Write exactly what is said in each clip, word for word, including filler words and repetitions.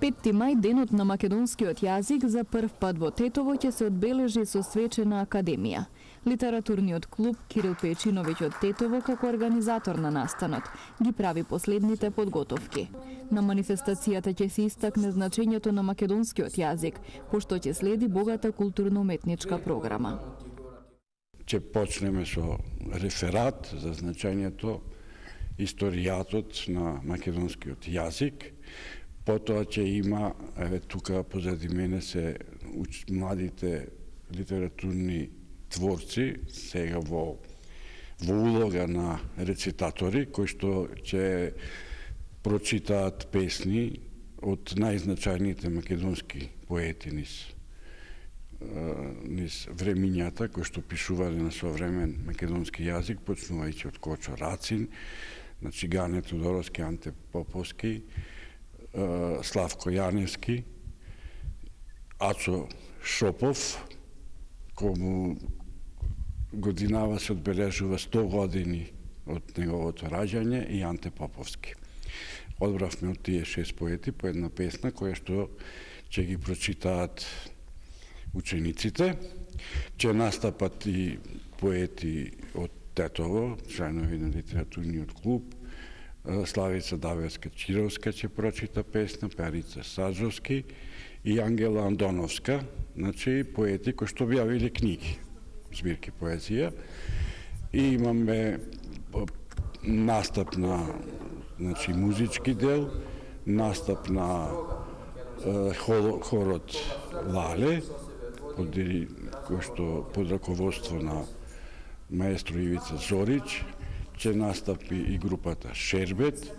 петти мај, денот на македонскиот јазик, за прв пат во Тетово ќе се одбележи со свечена академија. Литературниот клуб Кирил Печиновиќ од Тетово, како организатор на настанот, ги прави последните подготовки. На манифестацијата ќе се истакне значењето на македонскиот јазик, пошто ќе следи богата културно-уметничка програма. Ќе почнеме со реферат за значењето, историјатот на македонскиот јазик. Потоа ќе има, еве тука позади мене се уч, младите литературни творци, сега во, во улога на рецитатори, кои што ќе прочитаат песни од најзначајните македонски поети низ, низ времињата, кои што пишувале на современ македонски јазик, почнувајќи од Кочо Рацин, значи Гане Тодоровски, Анте Поповски, Славко Јаневски, Ацо Шопов, кому годинава се одбележува сто години од неговото раѓање, и Анте Поповски. Одбравме од тие шест поети по една песна која што ќе ги прочитаат учениците. Ќе настапат и поети од Тетово, членови на литературниот клуб. Славица Давевска-Чировска ќе прочита песна, Перица Саджовски и Ангела Андоновска, значи поети кои што објавиле книги, збирки поезија. И имаме настап на, значи, музички дел, настап на е, хорот Лале, под, кој што под раководство на маестро Ивица Зорич, ќе настапи и групата Шербет,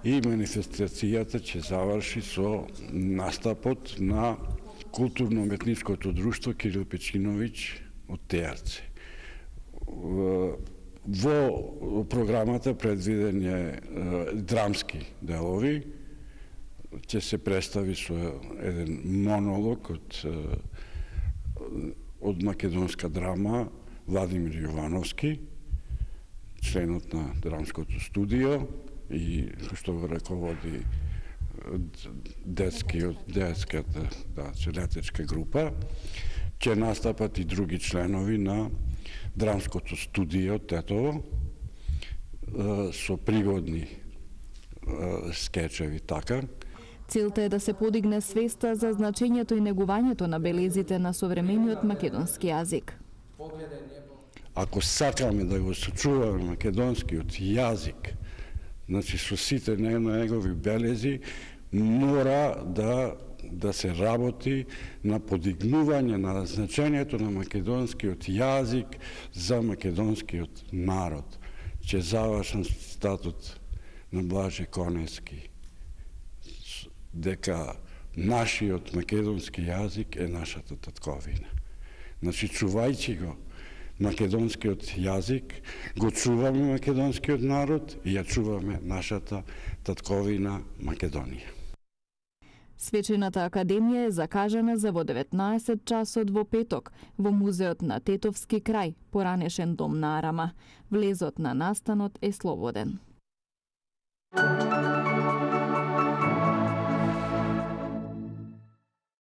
и манифестацијата ќе заврши со настапот на културно-уметничкото друштво Кирил Печиновиќ од Тејарце. Во програмата предвиден е драмски делови, ќе се представи со еден монолог од, од македонска драма Владимир Јовановски, членот на драмското студио и што го раководи детскиот, детската, да, целетечка група. Ќе настапат и други членови на драмското студио Тетово со пригодни скечеви, така. Целта е да се подигне свеста за значењето и негувањето на белезите на современиот македонски јазик. Ако сакаме да го сочуваме македонскиот јазик, значи со сите негови белези, мора да да се работи на подигнување на значењето на македонскиот јазик за македонскиот народ. Ќе завршам цитатот на Блаже Конески, дека нашиот македонски јазик е нашата татковина. Значи, чувајќи го македонскиот јазик, го чуваме македонскиот народ и ја чуваме нашата татковина Македонија. Свечената академија е закажана за во деветнаесет часот во петок во музеот на Тетовски крај, поранешен дом на Арама. Влезот на настанот е слободен.